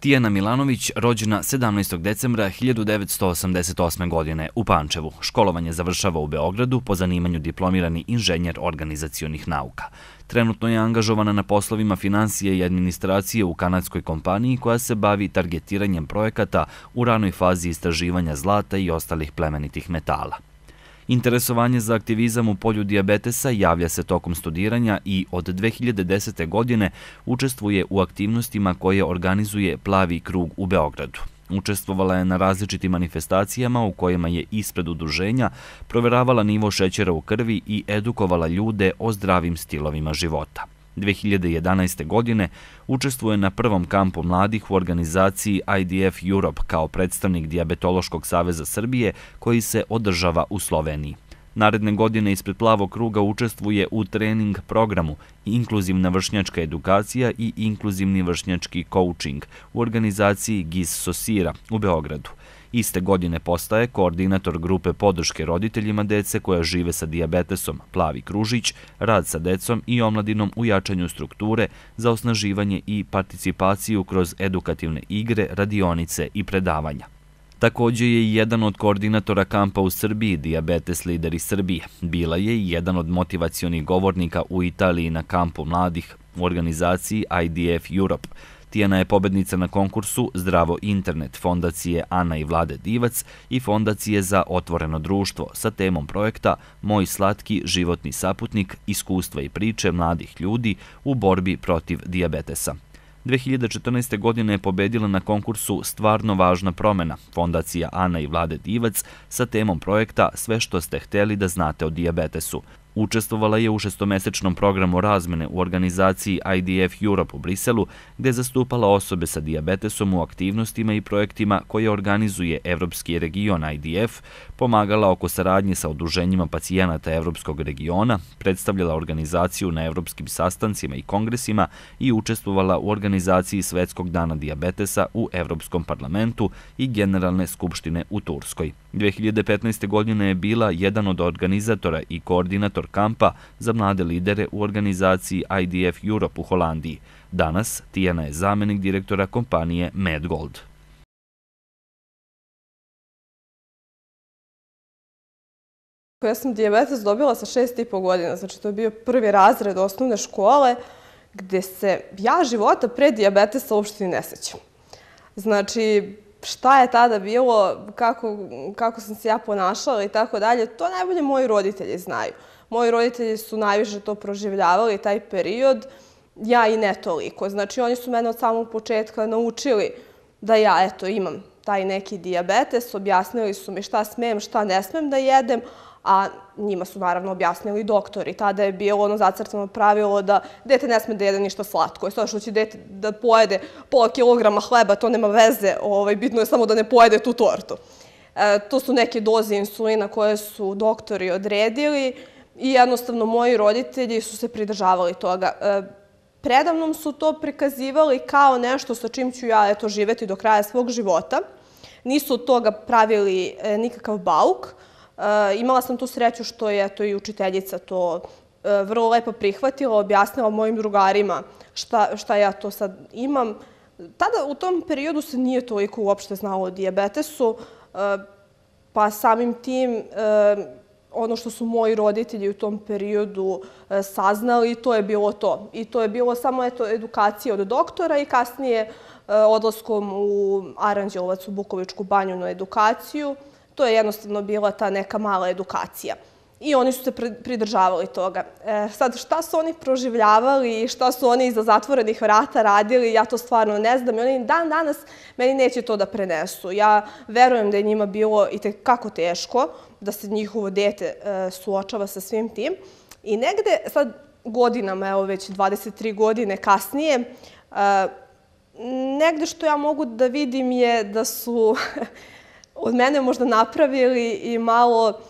Tijana Milanović, rođena 17. decembra 1988. godine u Pančevu. Školovanje završava u Beogradu, po zanimanju diplomirani inženjer organizacionih nauka. Trenutno je angažovana na poslovima finansije i administracije u kanadskoj kompaniji koja se bavi targetiranjem projekata u ranoj fazi istraživanja zlata i ostalih plemenitih metala. Interesovanje za aktivizam u polju dijabetesa javlja se tokom studiranja i od 2010. godine učestvuje u aktivnostima koje organizuje Plavi krug u Beogradu. Učestvovala je na različitim manifestacijama u kojima je ispred udruženja proveravala nivo šećera u krvi i edukovala ljude o zdravim stilovima života. 2011. godine učestvuje na prvom kampu mladih u organizaciji IDF Europe kao predstavnik Dijabetološkog saveza Srbije koji se održava u Sloveniji. Naredne godine ispred Plavog kruga učestvuje u trening programu Inkluzivna vršnjačka edukacija i Inkluzivni vršnjački coaching u organizaciji GIZ Sosira u Beogradu. Iste godine postaje koordinator grupe podrške roditeljima dece koja žive sa dijabetesom Plavi kružić, rad sa decom i omladinom u jačanju strukture za osnaživanje i participaciju kroz edukativne igre, radionice i predavanja. Također je i jedan od koordinatora kampa u Srbiji Dijabetes lideri Srbije. Bila je i jedan od motivacionih govornika u Italiji na kampu mladih u organizaciji IDF Europe. Tijana je pobednica na konkursu Zdravo internet fondacije Ana i Vlade Divac i fondacije za otvoreno društvo sa temom projekta Moj slatki životni saputnik, iskustva i priče mladih ljudi u borbi protiv dijabetesa. 2014. godine je pobedila na konkursu Stvarno važna promena, fondacija Ana i Vlade Divac sa temom projekta Sve što ste hteli da znate o dijabetesu. Učestvovala je u šestomesečnom programu razmene u organizaciji IDF Europe u Briselu, gde je zastupala osobe sa dijabetesom u aktivnostima i projektima koje organizuje Evropski region IDF, pomagala oko saradnje sa udruženjima pacijenata Evropskog regiona, predstavljala organizaciju na evropskim sastancima i kongresima i učestvovala u organizaciji Svetskog dana dijabetesa u Evropskom parlamentu i Generalne skupštine u Turskoj. 2015. godine je bila jedan od organizatora i koordinator kampa za mlade lidere u organizaciji IDF Europe u Holandiji. Danas Tijana je zamenik direktora kompanije Medgold. Ja sam dijabetes dobila sa 6,5 godina, znači to je bio prvi razred osnovne škole gde se ja života pre dijabetesa uopšte ne sećam. Znači, šta je tada bilo, kako sam se ja ponašala i tako dalje, to najbolje moji roditelji znaju. Moji roditelji su najviše to proživljavali, taj period, ja i ne toliko. Znači, oni su mene od samog početka naučili da ja, eto, imam taj neki dijabetes, objasnili su mi šta smem, šta ne smem da jedem, a njima su naravno objasnili doktori. Tada je bilo ono zacrtano pravilo da dete ne sme da jede ništa slatko. Sada što će dete da pojede pola kilograma hleba, to nema veze, bitno je samo da ne pojede tu tortu. To su neke doze insulina koje su doktori odredili i jednostavno moji roditelji su se pridržavali toga. Predavnom su to prikazivali kao nešto sa čim ću ja živeti do kraja svog života. Nisu od toga pravili nikakav bauk. Imala sam tu sreću što je i učiteljica to vrlo lepo prihvatila, objasnila mojim drugarima šta ja to sad imam. Tada u tom periodu se nije toliko uopšte znalo o dijabetesu, pa samim tim ono što su moji roditelji u tom periodu saznali, to je bilo to. I to je bilo samo edukacija od doktora i kasnije odlaskom u Aranđelovac, u Bukovičku banju na edukaciju. To je jednostavno bila ta neka mala edukacija. I oni su se pridržavali toga. Sad, šta su oni proživljavali i šta su oni iza zatvorenih vrata radili, ja to stvarno ne znam. I oni dan danas meni neće to da prenesu. Ja verujem da je njima bilo i tekako teško da se njihovo dete suočava sa svim tim. I negde, sad godinama, evo već 23 godine kasnije, negde što ja mogu da vidim je da su od mene možda napravili i malo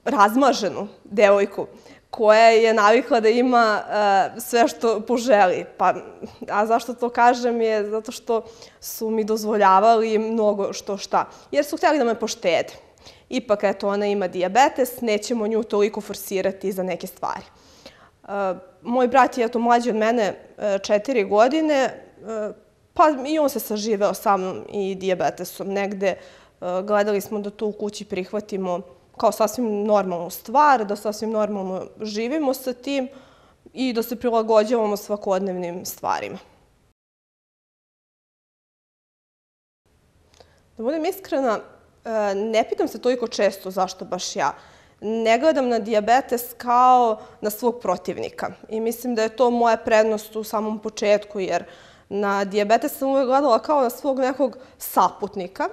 razmaženu devojku koja je navikla da ima sve što poželi. A zašto to kažem je zato što su mi dozvoljavali mnogo što šta. Jer su htjeli da me poštede. Ipak, eto, ona ima dijabetes, nećemo nju toliko forsirati za neke stvari. Moj brat je, eto, mlađi od mene 4 godine, Pa i on se saživeo sa mnom i dijabetesom. Negde gledali smo da to u kući prihvatimo kao sasvim normalnu stvar, da sasvim normalno živimo sa tim i da se prilagođavamo svakodnevnim stvarima. Da budem iskrena, ne pitam se toliko često zašto baš ja. Ne gledam na dijabetes kao na svog protivnika. I mislim da je to moja prednost u samom početku, jer na dijabetes sam uvek gledala kao na svog nekog saputnika,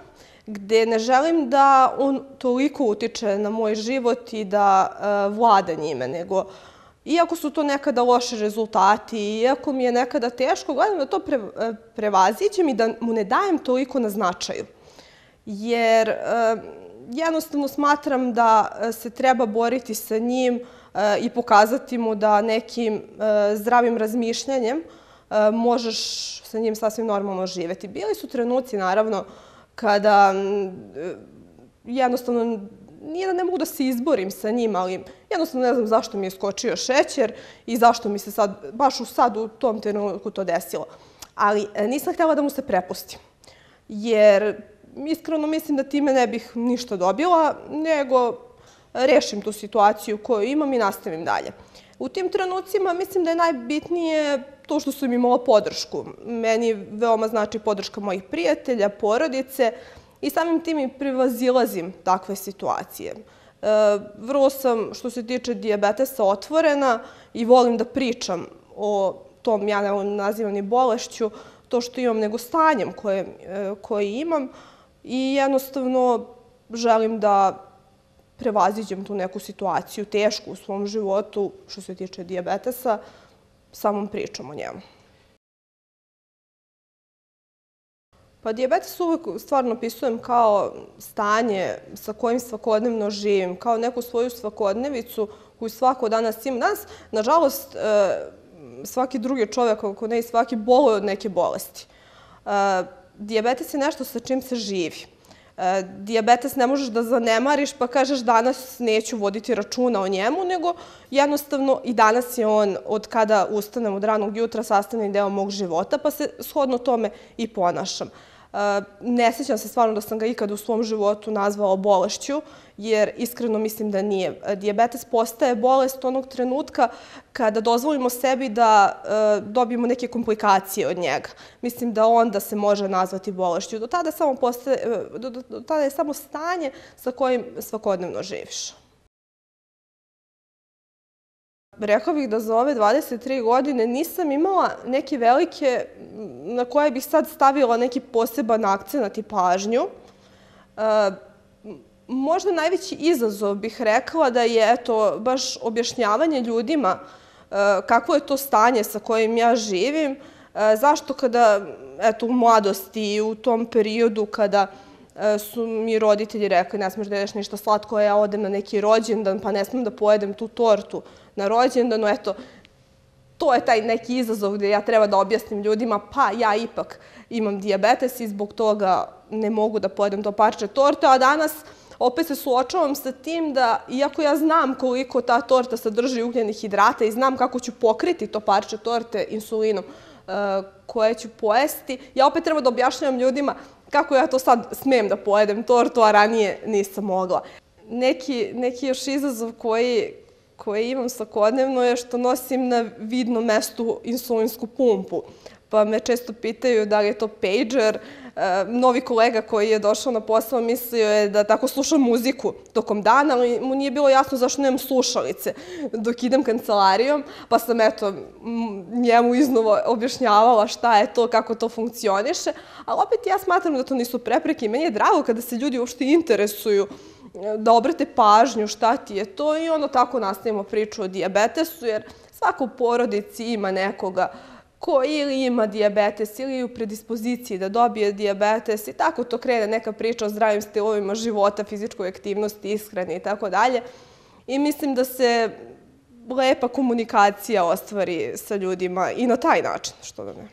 gde ne želim da on toliko utiče na moj život i da vlada njime, nego iako su to nekada loši rezultati, iako mi je nekada teško, gledam da to prevaziđem i da mu ne dajem toliko na značaju. Jer jednostavno smatram da se treba boriti sa njim i pokazati mu da nekim zdravim razmišljanjem možeš sa njim sasvim normalno živeti. Bili su trenuci, naravno, kada jednostavno nije da ne mogu da se izborim sa njim, ali jednostavno ne znam zašto mi je skočio šećer i zašto mi se sad, baš u tom trenutku to desilo. Ali nisam htjela da mu se prepustim, jer iskreno mislim da time ne bih ništa dobila, nego rešim tu situaciju koju imam i nastavim dalje. U tim trenucima mislim da je najbitnije to što sam imala podršku. Meni veoma znači podrška mojih prijatelja, porodice i samim tim i prevazilazim takve situacije. Vrlo sam, što se tiče dijabetesa, otvorena i volim da pričam o tom, ja ne nazivam ni bolešću, to što imam, nego stanjem koje imam i jednostavno želim da prevaziđem tu neku situaciju tešku u svom životu, što se tiče dijabetesa, samom pričom o njemu. Pa dijabetes uvek stvarno opisujem kao stanje sa kojim svakodnevno živim, kao neku svoju svakodnevicu koju svako danas imam. Danas, nažalost, svaki drugi čovjek, ako ne i svaki, boluje od neke bolesti. Dijabetes je nešto sa čim se živi. Dijabetes ne možeš da zanemariš pa kažeš danas neću voditi računa o njemu, nego jednostavno i danas je on, od kada ustanem od ranog jutra, sastavni deo mog života, pa se shodno tome i ponašam. Ne sjećam se stvarno da sam ga ikada u svom životu nazvala bolešću, jer iskreno mislim da nije. Dijabetes postaje bolest onog trenutka kada dozvolimo sebi da dobijemo neke komplikacije od njega. Mislim da onda se može nazvati bolešću. Do tada je samo stanje sa kojim svakodnevno živiš. Rekla bih da za ove 23 godine nisam imala neke velike na koje bih sad stavila neki poseban akcenat i pažnju. Možda najveći izazov bih rekla da je baš objašnjavanje ljudima kakvo je to stanje sa kojim ja živim, zašto kada u mladosti i u tom periodu kada su mi roditelji rekli ne smiješ da jedeš ništa slatko, ja odem na neki rođendan pa ne smijem da pojedem tu tortu na rođendanu, to je taj neki izazov gdje ja treba da objasnim ljudima pa ja ipak imam dijabetes i zbog toga ne mogu da pojedem to parče torte, a danas opet se suočavam sa tim da, iako ja znam koliko ta torta sadrži ugljenih hidrata i znam kako ću pokriti to parče torte insulinom koje ću pojesti, ja opet treba da objašnjavam ljudima kako ja to sad smem da pojedem tortu, a ranije nisam mogla. Neki još izazov koji imam svakodnevno je što nosim na vidnom mestu insulinsku pumpu. Pa me često pitaju da li je to pager. Novi kolega koji je došao na posao mislio je da tako slušam muziku tokom dana, ali mu nije bilo jasno zašto nemam slušalice dok idem kancelarijom, pa sam njemu iznova objašnjavala šta je to, kako to funkcioniše, ali opet ja smatram da to nisu prepreke i meni je drago kada se ljudi uopšte interesuju da obrate pažnju šta ti je to i onda tako nastavimo priču o dijabetesu, jer svaka u porodici ima nekoga ko ili ima dijabetes ili je u predispoziciji da dobije dijabetes i tako to krene neka priča o zdravim stilovima života, fizičkoj aktivnosti, ishrani i tako dalje. I mislim da se lepa komunikacija ostvari sa ljudima i na taj način, što da ne.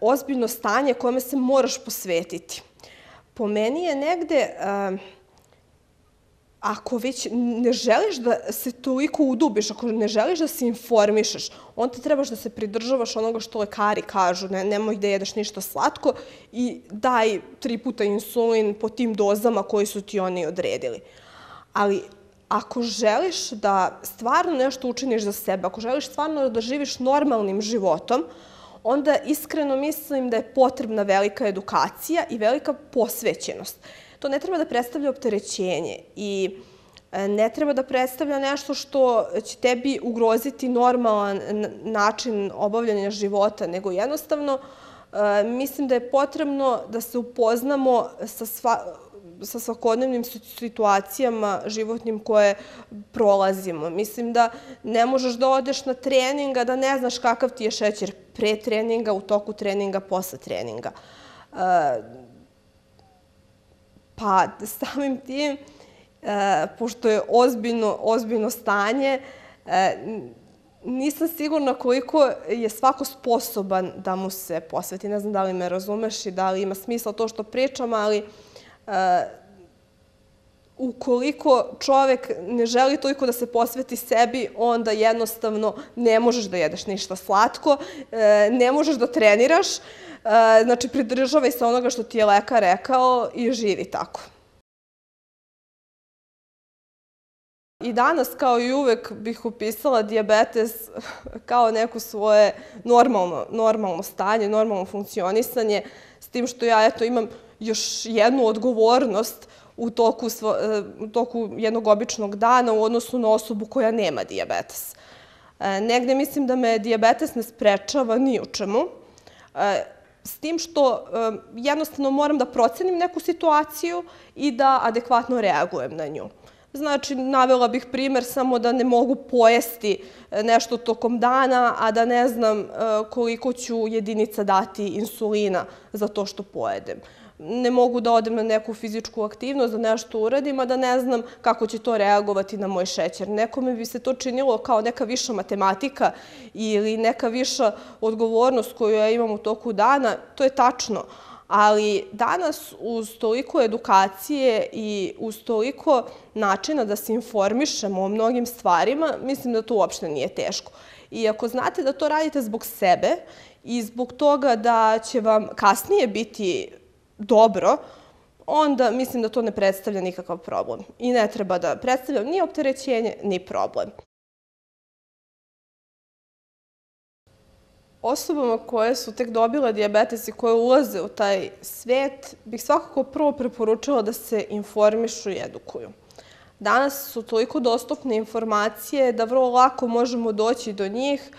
Ozbiljno stanje kome se moraš posvetiti. Po meni je negde, ako već ne želiš da se toliko udubiš, ako ne želiš da se informišeš, onda trebaš da se pridržavaš onoga što lekari kažu, nemoj da jedeš ništa slatko i daj 3 puta insulin po tim dozama koji su ti oni odredili. Ali ako želiš da stvarno nešto učiniš za sebe, ako želiš stvarno da živiš normalnim životom, onda iskreno mislim da je potrebna velika edukacija i velika posvećenost. To ne treba da predstavlja opterećenje i ne treba da predstavlja nešto što će tebi ugroziti normalan način obavljanja života, nego jednostavno mislim da je potrebno da se upoznamo sa svakodnevnim situacijama životnim koje prolazimo. Mislim da ne možeš da odeš na trening, a da ne znaš kakav ti je šećer pre treninga, u toku treninga, posle treninga. Pa samim tim, pošto je ozbiljno stanje, nisam sigurna koliko je svako sposoban da mu se posveti. Ne znam da li me razumeš i da li ima smisla to što pričam, ali ukoliko čovek ne želi toliko da se posveti sebi, onda jednostavno ne možeš da jedeš ništa slatko, ne možeš da treniraš, znači pridržavaj se onoga što ti je lekar rekao i živi tako. I danas, kao i uvek, bih opisala dijabetes kao neko svoje normalno stanje, normalno funkcionisanje, s tim što ja imam još jednu odgovornost u toku jednog običnog dana u odnosu na osobu koja nema dijabetes. Negde mislim da me dijabetes ne sprečava ni u čemu, s tim što jednostavno moram da procenim neku situaciju i da adekvatno reagujem na nju. Znači, navela bih primer samo da ne mogu pojesti nešto tokom dana, a da ne znam koliko ću jedinica dati insulina za to što pojedem. Ne mogu da odem na neku fizičku aktivnost, da nešto uradim, a da ne znam kako će to reagovati na moj šećer. Nekome bi se to činilo kao neka viša matematika ili neka viša odgovornost koju ja imam u toku dana. To je tačno. Ali danas, uz toliko edukacije i uz toliko načina da se informišemo o mnogim stvarima, mislim da to uopšte nije teško. I ako znate da to radite zbog sebe i zbog toga da će vam kasnije biti dobro, onda mislim da to ne predstavlja nikakav problem. I ne treba da predstavlja ni opterećenje, ni problem. Osobama koje su tek dobile dijabetes i koje ulaze u taj svet, bih svakako prvo preporučila da se informišu i edukuju. Danas su toliko dostupne informacije da vrlo lako možemo doći do njih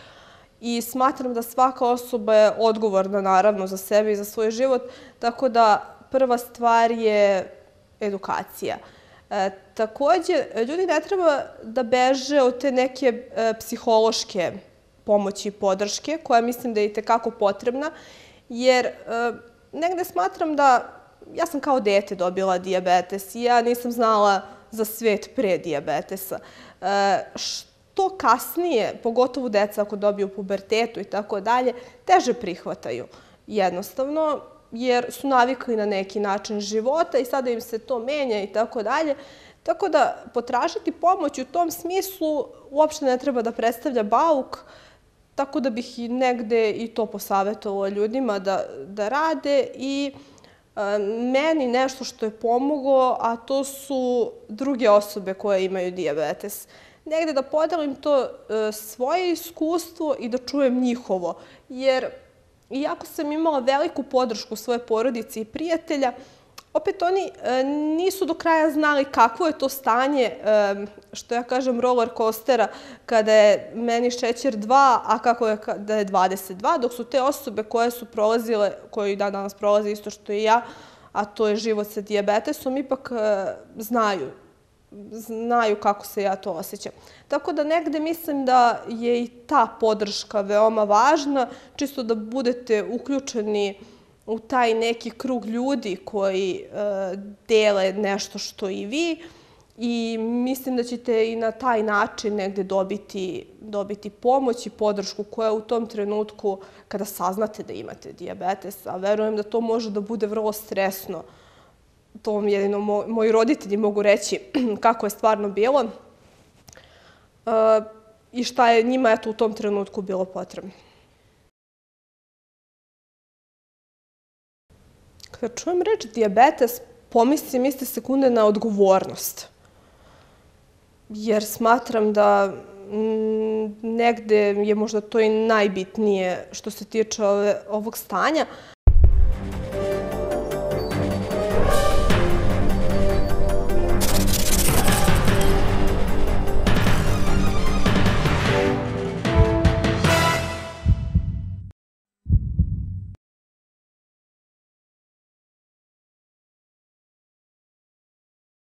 i smatram da svaka osoba je odgovorna, naravno, za sebe i za svoj život, tako da prva stvar je edukacija. Također, ljudi ne treba da beže od te neke psihološke pomoći i podrške, koja mislim da je itekako potrebna, jer negde smatram da ja sam kao dete dobila dijabetes i ja nisam znala za svet pre dijabetesa. Što kasnije, pogotovo deca ako dobiju pubertetu i tako dalje, teže prihvataju jednostavno, jer su navikli na neki način života i sada im se to menja i tako dalje. Tako da potražiti pomoć u tom smislu uopšte ne treba da predstavlja bauk, tako da bih i negde i to posavetovala ljudima da rade i meni nešto što je pomoglo, a to su druge osobe koje imaju dijabetes. Negde da podelim to svoje iskustvo i da čujem njihovo, jer iako sam imala veliku podršku svoje porodice i prijatelja, opet oni nisu do kraja znali kakvo je to stanje, što ja kažem, roller coastera, kada je meni šećer 2, a kako je da je 22, dok su te osobe koje su prolazile, koje i danas prolaze isto što i ja, a to je život sa dijabetesom, ipak znaju kako se ja to osjećam. Tako da negde mislim da je i ta podrška veoma važna, čisto da budete uključeni u taj neki krug ljudi koji dele nešto što i vi i mislim da ćete i na taj način negde dobiti pomoć i podršku koja u tom trenutku, kada saznate da imate dijabetes, a verujem da to može da bude vrlo stresno, to vam jedino moji roditelji mogu reći kako je stvarno bilo i šta je njima u tom trenutku bilo potrebno. Kada čujem reč dijabetes, pomislim iste sekunde na odgovornost. Jer smatram da negde je možda to i najbitnije što se tiče ovog stanja,